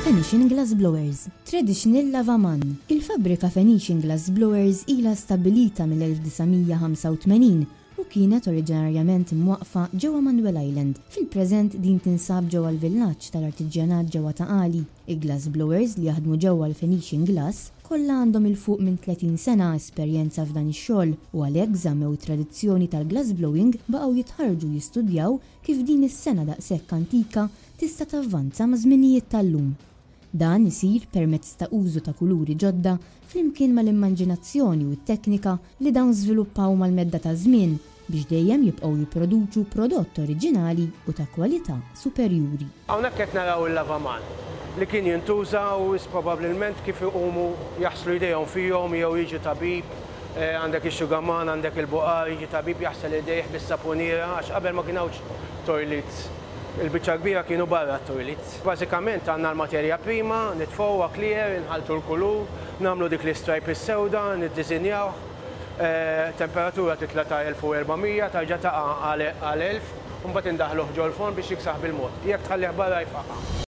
Phoenician Glass Blowers, Traditional Lavaman. Il-fabbrika Phoenician Glass Blowers ilha stabbilita mill-1985 u kienet oriġinarjament imwaqqfa ġewwa Manuel Island. Fil-preżent din tinsab ġewwa l-villaġġ tal-artiġjanat ġewwa Ta' Qali. Il-glass blowers li jaħdmu ġewwa l-Phoenician Glass kollha għandhom 'il fuq minn 30 sena esperjenza f'dan ix-xogħol u għalhekk żammew it-tradizzjoni tal-glass blowing baqgħu jitħarrġu u jistudjaw kif din is-sengħa daqshekk antika tista' tavvanza maż-żminijiet tal-lum. Dan isir permezz ta' użu ta' kuluri ġodda flimkien mal-immanġinazzjoni u t-teknika li dawn żviluppaw mal-medda taż-żmien biex dejjem jibqgħu jipproduċu prodott oriġinali u ta' kwalità superjuri. Hawnhekk qed naraw il-lavaman li kien jintuża u wisq probabbilment kif iqumu jaħslu jdejhom fihom jew jiġi tabib, għandek ix-xugaman, għandek il-buqar, jiġi tabib jaħsel idejh bis-sapuniera għax qabel ma kien hawnx toilets. Il-biċċa l-kbira kienu barra t-toilets. Bażikament għandna l-materja prima, nitfgħuha clear, inħalltu l-kulur, nagħmlu dik l-istripe is-sewda, niddisinjawh, temperatura titla' ta' 1400, tarġa' taqa' għal 1000, u mbagħad indaħħluh ġol-forn biex jiksaħ bil-mod. Jekk tħallih barra jfaqqa'.